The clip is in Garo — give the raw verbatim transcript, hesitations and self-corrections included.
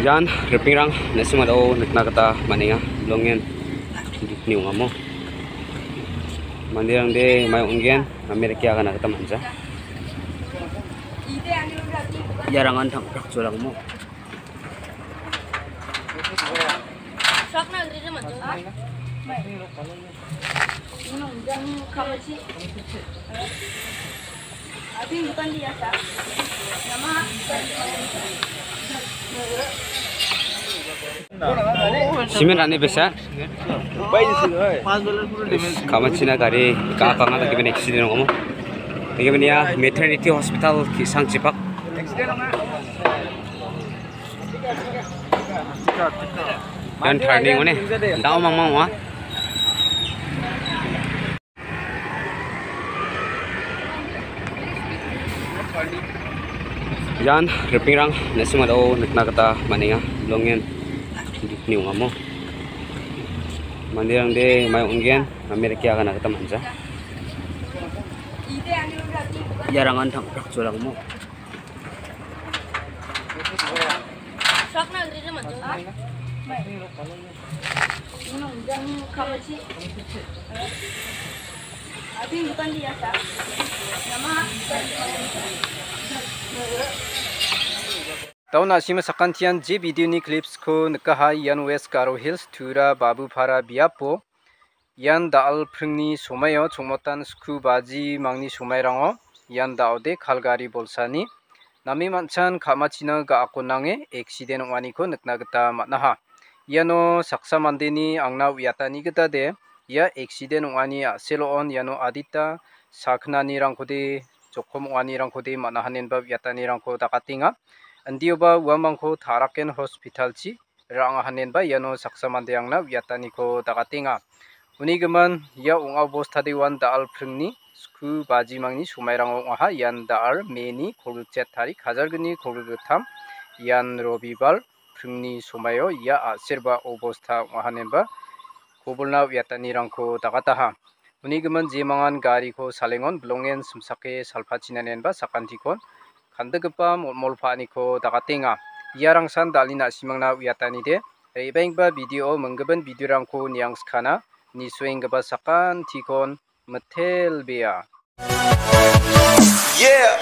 Ian ripengrang na·simangdao nikna gita man·enga. Bilongen gipni ong·amo. Manderangde mai ong·gen, Amerika gana gita man·ja. Iarangan tangprak jolangmo. Simen rani besa. Kamachina gari ka kanga ta kiben accident ong·amo. Tege benia maternity hospital ki sangchipak. Ian turning ong·a. Dao mangmang ong·a. Ian ripengrang na·simangdao nikna gita man·enga. Bilongen gipni ong·amo. Manderangde mai ong·gen, Amerika gana gita man·ja. Iarangan tangprak jolangmo. Dao na·sima sakantian je video-ni clips-ko nikaha, ian West Garo Hills, Tura Babupara biapo. Ian da·al pringni somaio chongmotan sku baji mangni somairango ian da·ode Calgary bolsani name man·chan ka·machina ga·ako nange accident ong·aniko nikna gita man·aha. Iano saksa mandeni angna uiatani gitade ia accident ong·ani a·selo on iano adita sakgnanirangkode, jokom ong·anirangkode man·ahanenba uiatanirangko dakatenga. Indioba uamangko Taraken hospital-chi ra·angahanenba iano saksa mande angna uiataniko dakatenga. Uni gimin ia ong·a obostade uan da·al pringni sku bajimangni somairango ong·aha. Ian da·al May-ni kolgriket tarik, hajalgni kolgrikgittam, ian Robibar pringni somaio ia a·serba obosta ong·ahanenba kobolna uiatanirangko dagataha. Uni gimin jemangan gariko salengon bilongen simsake salpachinanenba sakantikon kandikgipa molmolpaaniko dagatenga. Iarangsan da·alni na·simangna uiatanide, re·baenggipa video-o minggimin video-rangko niangskana, nisoenggipa sakantikon mitelbea. Yeah.